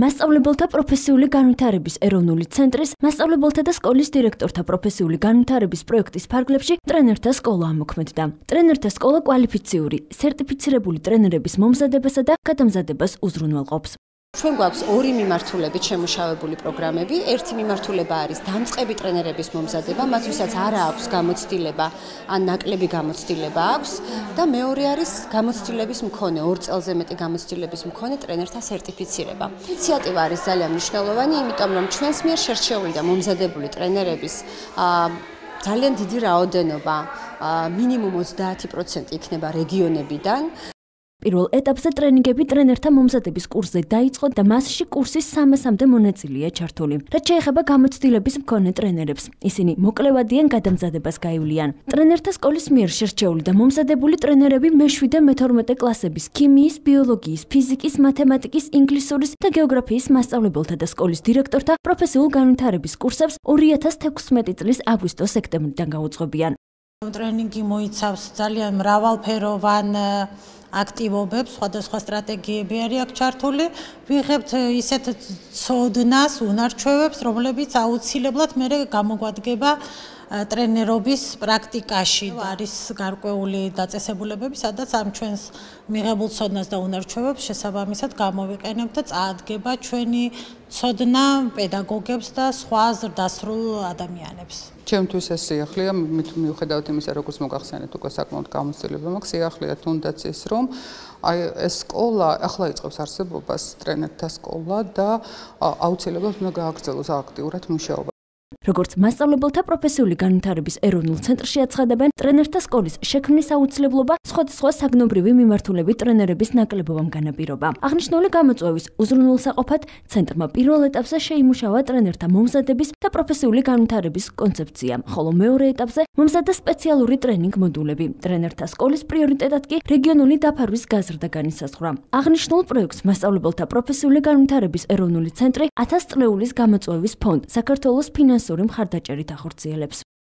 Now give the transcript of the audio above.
მასწავლებელთა პროფესიული განვითარების ეროვნული ცენტრის მასწავლებელთა და სკოლის დირექტორთა პროფესიული განვითარების პროექტის ფარგლებში ტრენერთა სკოლა ამოქმედდა. ტრენერთა სკოლა კვალიფიციური, სერტიფიცირებული ტრენერების მომზადებასა და გადამზადებას უზრუნველყოფს. ჩვენ გვაქვს ორი მიმართულებით შემუშავებული პროგრამები. ერთი მიმართულება არის დამწყები ტრენერების მომზადება, მათ ვისაც არ აქვს გამოცდილება ან ნაკლები გამოცდილება აქვს და მეორე არის გამოცდილების მქონე, 2 წელზე მეტი გამოცდილების მქონე ტრენერთა სერტიფიცირება. ინიციატივა არის ძალიან მნიშვნელოვანი, იმიტომ რომ ჩვენს მიერ შერჩეული და მომზადებული ტრენერების ძალიან დიდი რაოდენობა, მინიმუმ 30% იქნება რეგიონებიდან. პირველ ეტაპზე ტრენინგები ტრენერთა მომზადების კურსზე დაიწყო და მასში კურსის 300-მდე მონაწილეა ჩართული. რაც შეეხება გამოცდილების მქონე ტრენერებს, ისინი მოკლევადიან გადამზადებას გაივლიან. ტრენერთა სკოლის მიერ შერჩეული და მომზადებული ტრენერები მე-7 და მე-12 კლასების ქიმიის, ბიოლოგიის, ფიზიკის, მათემატიკის, ინგლისურის და გეოგრაფიის მასწავლებელთა და სკოლის დირექტორთა პროფესიულ განვითარების კურსებს 2016 წლის აგვისტო-სექტემბრიდან გაუძღვებიან. ტრენინგი მოიცავს ძალიან მრავალფეროვან აქტივობებს, სხვადასხვა სტრატეგიები არის აქ ჩართული. ვიღებთ ისეთ ცოდნას, უნარჩვევებს, რომლებიც აუცილებლად მერე გამოგვადგება ტრენერობის პრაქტიკაში. არის გარკვეული დაწესებულებები, სადაც ამ ჩვენს მიღებულ ცოდნას და უნარჩვევებს შესაბამისად გამოვიყენებთ და წაადგება ჩვენი ცოდნა პედაგოგებს და სხვა ზრდასრულ ადამიანებს. ჩემთვის ეს სიახლეა, მიუხედავად იმისა, როგორც მოგახსენეთ, უკვე საკმაოდ გამოცდილება მაქვს, სიახლეა თუნდაც ის, რომ ეს სკოლა ახლა იწყებს არსებობას, ტრენერთა სკოლა და აუცილებლად უნდა გააგრძელოს აქტიურად მუშაობა. როგორც მასწავლებელთა პროფესიული განვითარების ეროვნულ ცენტრში აცხადებენ, ტრენერთა სკოლის შექმნის აუცილებლობა სხვადასხვა საგნობრივი მიმართულებით ტრენერების ნაკლებობამ განაპირობა. აღნიშნული გამოწვევის უზრუნველსაყოფად ცენტრმა პირველ ეტაპზე შეიმუშავა ტრენერთა მომზადების და პროფესიული განვითარების კონცეფცია, ხოლო მეორე ეტაპზე მომზადდა სპეციალური ტრენინგ მოდულები. ტრენერთა სკოლის პრიორიტეტად კი რეგიონული დაფარვის გაზრდა განისაზღვრა. აღნიშნულ პროექტს მასწავლებელთა პროფესიული განვითარების ეროვნული ცენტრი 1000 წლეულის გამოწვევის ფონდ საქართველოს ფინანსური მხარდაჭერით ახორციელებს.